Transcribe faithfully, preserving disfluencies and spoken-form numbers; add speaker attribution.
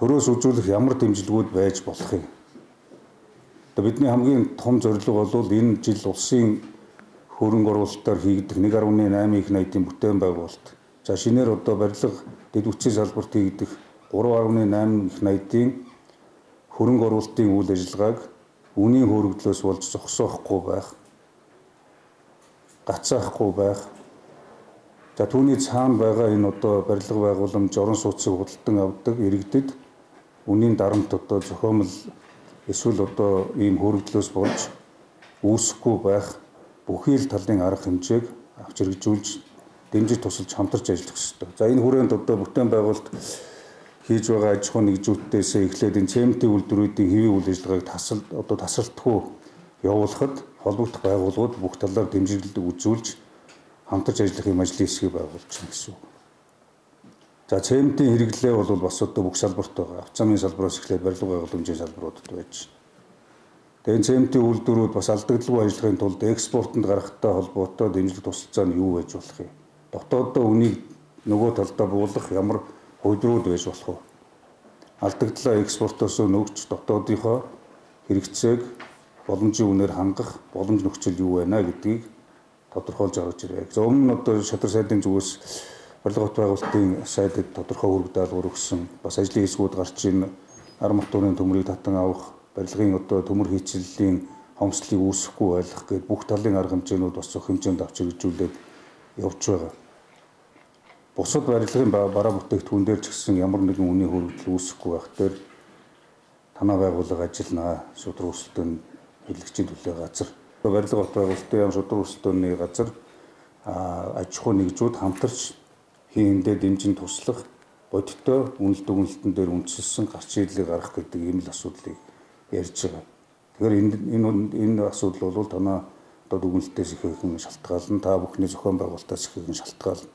Speaker 1: төрөөс үзүүлэх ямар дэмжлэгүүд байж болох юм. Одоо бидний хамгийн том зорилго бол энэ жил улсын хөрөнгө оруулалтаар хийгдэх нэг гаруй найман их найдын бүтээн байгуулалт. За шинээр одоо барилга дэд үтсийн салбарт хийгдэх гурван гаруй найман их найдын хөрөнгө оруулалтын үйл ажиллагааг үнийн хөрөгдлөөс болж зогсоохгүй байх, гацаахгүй байх. За түүний цаана байгаа энэ одоо барилга байгууламж орон сууцыг худалдан авдаг иргэдэд үнийн дарамт одоо зохиомл эсвэл одоо ийм хөрөгдлөөс болж үүсэхгүй байх бүхий л талын арга хэмжээг авч хэрэгжүүлж дэмжиж тусалж хамтарч ажиллах ёстой. За энэ хүрээнд одоо бүтээн байгуулалт хийж байгаа аж ахуйн нэгжүүдээс эхлээд энэ цементийн үйлдвэрүүдийн хэвийн үйл ажиллагааг тасал одоо тасралтгүй явуулахад холбогдох байгууллагууд бүх талаар дэмжлэг үзүүлж хамтарч ажиллахын ажлын хэсгийг байгуулж байна гэсэн үг. За цементийн хэрэглээ бол бас одоо бүх салбарт байгаа. Авто замын салбараас эхлээд барилга байгууламжийн салбаруудад байж байна. Тэгээ энэ цементийн үйлдвэрүүд бас алдагдaltaгүй ажиллахын тулд экспортод гарахтай холбоотой дэмжлэг тусалцаа нь юу байж болох юм? Дотооддоо үнийг нөгөө талдаа буулгах ямар хувьдрууд байж болох вэ? Алдагдлаа экспортоос нөгч дотоодынхоо хэрэгцээг боломжийн үнээр хангах боломж нөхцөл юу байна гэдгийг тодорхойлж гаргаж ирээ. За өмнө нь одоо шадар сайдын зүгээс барилга бот байгуулалтын сайдад тодорхой үүрэг даалгавар өгсөн. Бас ажлын хэсгүүд гарч ийн ар матуурын төмрийг татан авах, барилгын одоо төмөр хийцлэлийн хомслыг үүсэхгүй байлгах гээд бүх талын арга хэмжээнүүд бас зөв хэмжээнд авч хэрэгжүүлээд явж байгаа. Бусад барилгын бараа бүтээгдэхүүн дээр ч гэсэн ямар нэгэн үнийн хөрөгдөл үүсэхгүй байх дээр танаа байгууллага ажиллана. Шудраг өрсөлдөөн хэлэгчийн төлөө газар. Барилга бот байгуулалтын шудраг өрсөлдөөний газар аж ахуй нэгжүүд хамтарч хийндээ дэмжин туслах бодиттой үнэлт дүгнэлтэн дээр үндэслэн гарч ирлийг гаргах гэдэг ийм л асуудлыг ярьж байгаа. Тэгэхээр энэ энэ энэ асуудал бол танаа одоо дүгнэлтээс их их шалтгаална. Та бүхний зохион байгуулалтаас их их шалтгаална.